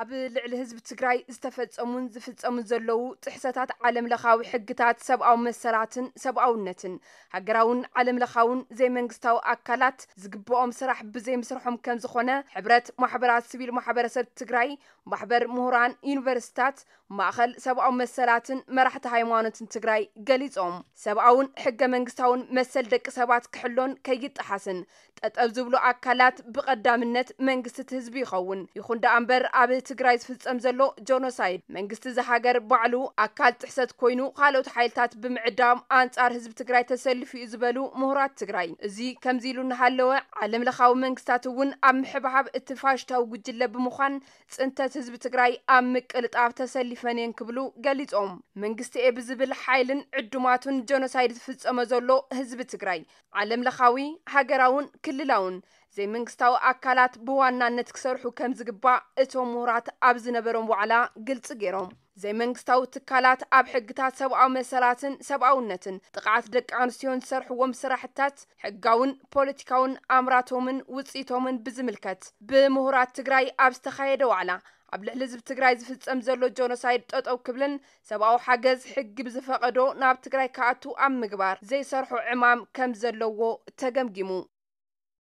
ኣብ ልዕሊ ህዝቢ ትግራይ ዝተፈጸሙን ዝፍጸሙን ዘለዉ ጥሕሰታት ዓለም ለኻዊ ሕግታት ሰብኣዊ መሰላትን ሰብኣውነትን፣ ሃገራውን ዓለም ለኻውን ዘይመንግስታዊ ኣካላት ዝግብኦም ስራሕ ብዘይምስርሖም ከም ዝኾነ ሕብረት ማሕበራት ሲቪል ማሕበረሰብ ትግራይ፣ ማሕበር ምሁራን ዩኒቨርሲታት፣ ማእኸል ሰብኣዊ መሰላትን መራሕቲ ሃይማኖትን ትግራይ ገሊጾም። ሰብኣውን ሕገ መንግስታውን መሰል ደቂ ሰባት ክሕሎን ከይጠሓስን ጠጠው ዝብሉ ኣካላት ብቐዳምነት መንግስቲ እቲ ህዝቢ ይኸውን። ይኹን ደኣ እምበር ኣብ ትግራይ ዝፍጸም ዘሎ ጆኖሳይድ መንግስቲ እዚ ሃገር ባዕሉ ኣካል ጥሕሰት ኮይኑ ካልኦት ሓይልታት ብምዕዳም ኣንጻር ህዝቢ ትግራይ ተሰሊፉ እዩ ዝበሉ ምሁራት ትግራይ፣ እዚ ከምዚ ኢሉ እናሃለወ ዓለም ለኻዊ መንግስታት እውን ኣብ ምሕብሓብ እቲ ፋሽታዊ ጉጅለ ብምዃን ጽንተት ህዝቢ ትግራይ ኣብ ምቅልጣፍ ተሰሊፈን እየን ክብሉ ገሊጾም። መንግስቲ እየ ብዝብል ሓይልን ዕዱማቱን ጆኖሳይድ ዝፍጸሞ ዘሎ ህዝቢ ትግራይ ዓለም ለኻዊ፣ ሃገራውን ክልላውን ዘይመንግስታዊ ኣካላት ብዋናነት ክሰርሑ ከም ዝግባእ እቶም ምሁራት ኣብ ዝነበሮም ዋዕላ ግልጺ ገይሮም። ዘይመንግስታዊ ትካላት ኣብ ሕግታት ሰብኣዊ መሰላትን ሰብኣውነትን ጥቕዓት ደቂ ኣንስትዮን ዝሰርሕዎም ስራሕታት ሕጋውን ፖለቲካውን ኣምራቶምን ውፅኢቶምን ብዝምልከት ብምሁራት ትግራይ ኣብ ዝተኻየደ ዋዕላ ኣብ ልዕሊ ህዝቢ ትግራይ ዝፍጸም ዘሎ ጆኖሳይድ ጠጠው ክብልን ሰብኣዊ ሓገዝ ሕጊ ብዝፈቐዶ ናብ ትግራይ ክኣቱ ኣብ ምግባር ዘይሰርሖ ዕማም ከም ዘለዎ ተገምጊሙ።